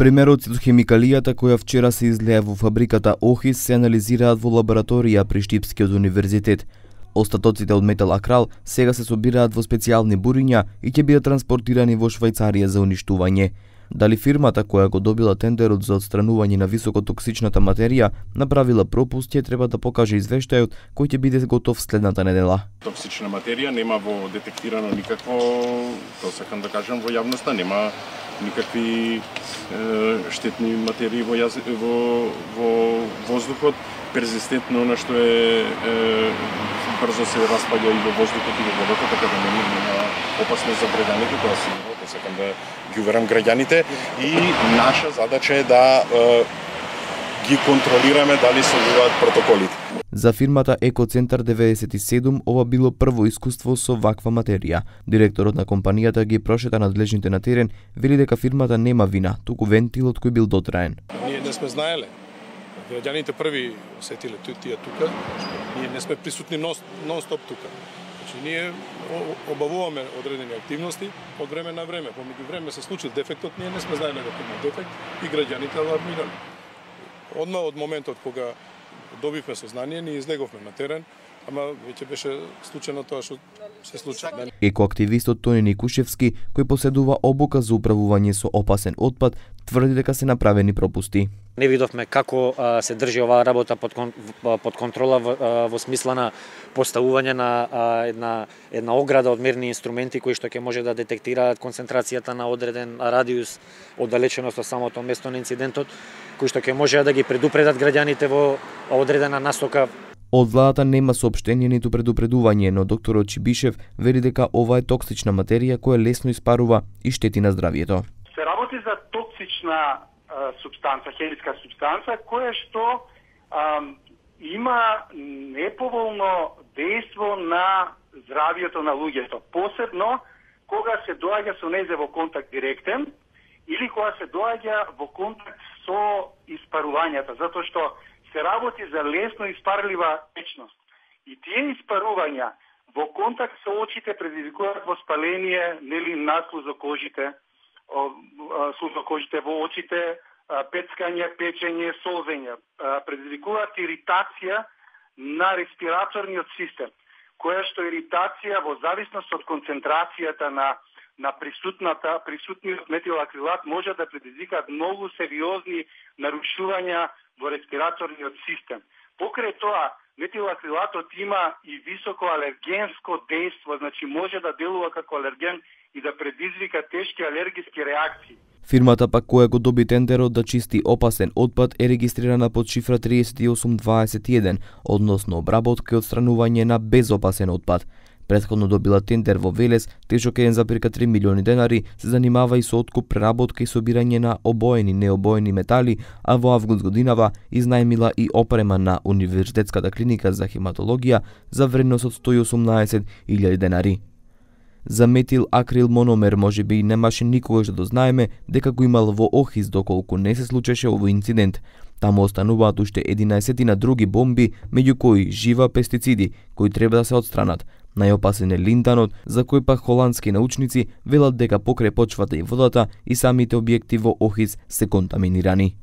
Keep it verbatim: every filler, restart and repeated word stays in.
Примероци од хемикалијата која вчера се излеа во фабриката Охис се анализираат во лабораторија при Штипскиот универзитет. Остатоците од метал акрал сега се собираат во специјални буриња и ќе бидат транспортирани во Швајцарија за уништување. Дали фирмата која го добила тендерот за отстранување на високотоксичната материја направила пропуст, ќе треба да покаже извештајот кој ќе биде готов следната недела. Токсична материја нема во детектирано никакво, тоа сакам да кажам, во јавноста нема никакви е, штетни материи во, јаз... во, во воздухот. Перзистентно она што е, е брзо се распаѓа и во воздухот и во водата, така да нема, нема опасност за граѓаните, тоа сигурно, тоа сакам да ги уверам граѓаните, и наша задача е да е, ги контролираме дали следуваат протоколите. За фирмата Екоцентар деветдесет и седум ова било прво искуство со ваква материја. Директорот на компанијата ги прошета надлежните на терен, вели дека фирмата нема вина, туку вентилот кој бил дотраен. Ние не сме знаеле. Граѓаните први осетиле тие тука, ние не сме присутни нон-стоп тука. Значи, ние обавуваме одредени активности од време на време. Помеѓу време се случил дефектот, ние не сме знаеле дека има дефект и граѓаните алармирале. Одма од моментот кога добивме сознание, ние излеговме на терен, ама веќе беше случено тоа што се случи. Екоактивистот Тони Никушевски, кој поседува обука за управување со опасен отпад, тврди дека се направени пропусти. Не видовме како а, се држи оваа работа под, кон, под контрола во, а, во смисла на поставување на а, една, една ограда од мерни инструменти кои што ќе може да детектираат концентрацијата на одреден радиус оддалеченост од самото место на инцидентот, кои што ќе може да ги предупредат граѓаните во одредена насока. Од владата нема соопштение ниту предупредување, но докторот Чибишев вели дека ова е токсична материја која лесно испарува и штети на здравието. Се работи за токсична а, субстанца, хемиска субстанца, која што а, има неповолно дејство на здравието на луѓето, посебно кога се доаѓа со незе во контакт директен или кога се доаѓа во контакт со испарувањата, затоа што се работи за лесно испарлива течност. И тие испарувања во контакт со очите предизвикуваат воспаление, нели наслузо кожите, слузо кожите во очите, пецкање, печење, солзење, предизвикуваат иритација на респираторниот систем, која што иритација во зависност од концентрацијата на на присутната присутниот метилакрилат може да предизвикаат многу сериозни нарушувања во респираторниот систем. Покрај тоа, метилакрилатот има и високо алергенско дејство, значи може да делува како алерген и да предизвика тешки алергиски реакции. Фирмата пак која го доби тендерот да чисти опасен отпад е регистрирана под шифра триесет и осум дваесет и еден, односно обработка и отстранување на безопасен отпад. Претходно добила тендер во Велес, тежок еден зарез три милиони денари, се занимава и со откуп, преработка и собирање на обоени, необоени метали, а во август годинава изнајмила и опрема на Универзитетската клиника за хематологија за вредност од сто и осумнаесет илјади денари. За метил акрил мономер може би немаше никогаш да дознаеме дека го имал во Охис доколку не се случеше овој инцидент. Таму остануваат уште единаесет други бомби, меѓу кои жива пестициди, кои треба да се отстранат. Најопасен е линтанот, за кој пак холандски научници велат дека покрај почвата и водата и самите објекти во Охис се контаминирани.